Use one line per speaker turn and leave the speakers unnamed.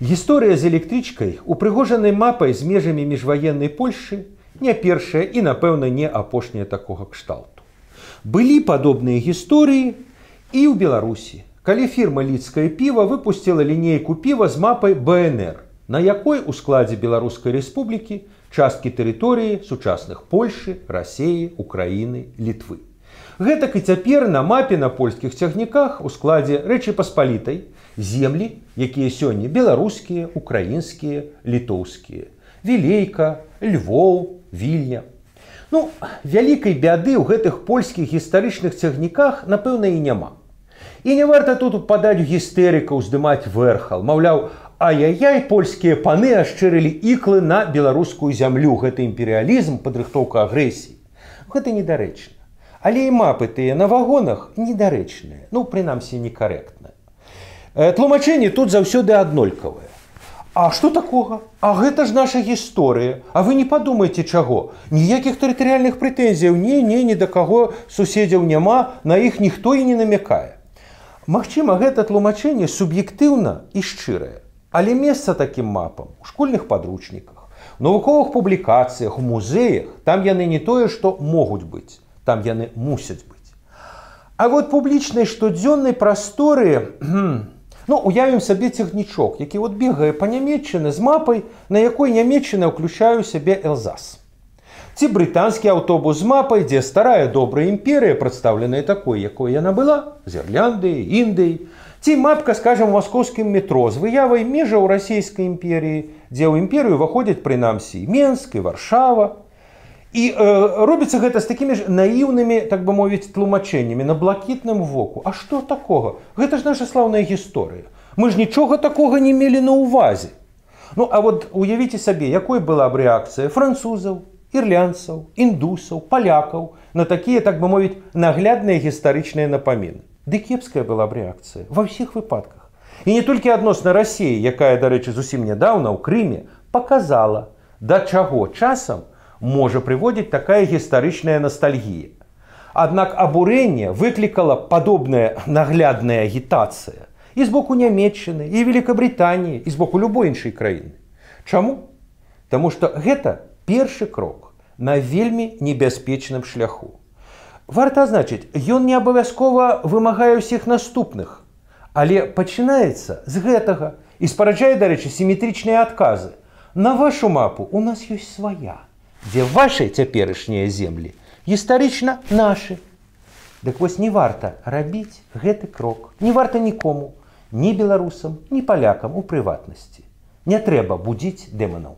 Гісторыя з электрычкай, упрыгожанай мапай з межамі міжваеннай Польшчы, не першая і, напэўна, не апошняя такога кшталту. Былі падобныя гісторыі і ў Беларусі, калі фірма «Лідскае піва» выпусціла лінейку піва з мапай БНР, на якой у складзе Беларускай Рэспублікі часткі тэрыторыі сучасных Польшчы, Расеі, Украіны, Літвы. Гэтак і цяпер на мапе на польскіх цягніках у складзе Рэчы Паспалітай землі, якія сёння беларускія, украінскія, літоўскія. Вілейка, Львоў, Вільня. Ну, вялікай бяды ў гэтых польскіх гістарычных цягніках, напэўна, і няма. І не варта тут упадаць у гістэрыкаў, здымаць вэрхал. Маўляў, ай-яй-яй, польскія паны ашчырылі іклы на беларускую зямлю. Гэта імперыялізм, падрыхтоўка агрэсіі. Гэта недарэчна. Але і мапы тыя на вагонах недарэчныя. Ну, прынамсі, некарэктныя. Тлумачэнні тут заўсёды аднолькавыя. А што такога? А гэта ж наша гісторыя. А вы не падумайце чаго. Ніякіх тэрытарыяльных прэтэнзіяў ні да каго суседзяў няма, на іх ніхто і не намякае. Магчыма, гэта тлумачэнне суб'ектыўна і шчырае. Але месца такім мапам у школьных падручніках, у навуковых публікацыях, у музеях, там яны не тое, што могуць быць, там яны мусяць быць. А вот публічнай штодзённай прасторы, ну, уявім сабе цягнічок, які вот бегае па Нямецчыны з мапай, на якой Нямецчына ўключае ў сябе Элзас. Ці брытанскі аўтобус з мапай, дзе старая добрая імперыя, прадстаўленая такой, якой яна была, з Ірляндыяй, Індыяй. Ці мапка, скажам, маскоўскім метро з выявай межаў расійскай імперіі, дзе ў імперыю выходзяць прынамсі Менск і Варшава. І робіцца гэта з такімі ж наіўнымі, так бы мовіць, тлумачэннямі на блакітным воку. А што такога? Гэта ж наша слаўная гісторыя. Мы ж нічога такога не мелі на ўвазе. Ну, а вот уявіце сабе, якой была б рэакцыя французаў, ірландцаў, індусаў, палякаў на такія, так бы мовіць, наглядныя гістарычныя напаміны. Ды кепская была б рэакцыя ва ўсіх выпадках. І не толькі адносна Расіі, якая, дарэчы, зусім нядаўна ў Крыме паказала, да чаго часам можа прыводзіць такая гістарычная настальгія. Аднак абурэнне выклікала падобная наглядная агітацыя і з боку Нямецчыны, і Великабрытаніі, і з боку любой іншай краіны. Чаму? Таму што гэта першы крок на вельмі небяспечным шляху. Варта адзначыць, ён не абавязкова вымагае ўсіх наступных, але пачынаецца з гэтага і спараджае, дарэчы, сіметрычныя адказы. На вашу мапу у нас ёсць свая, дзе вашыя цяперашнія землі гістарычна нашы. Дык вось не варта рабіць гэты крок. Не варта нікому, ні беларусам, ні палякам у прыватнасці. Не трэба будзіць дэманаў.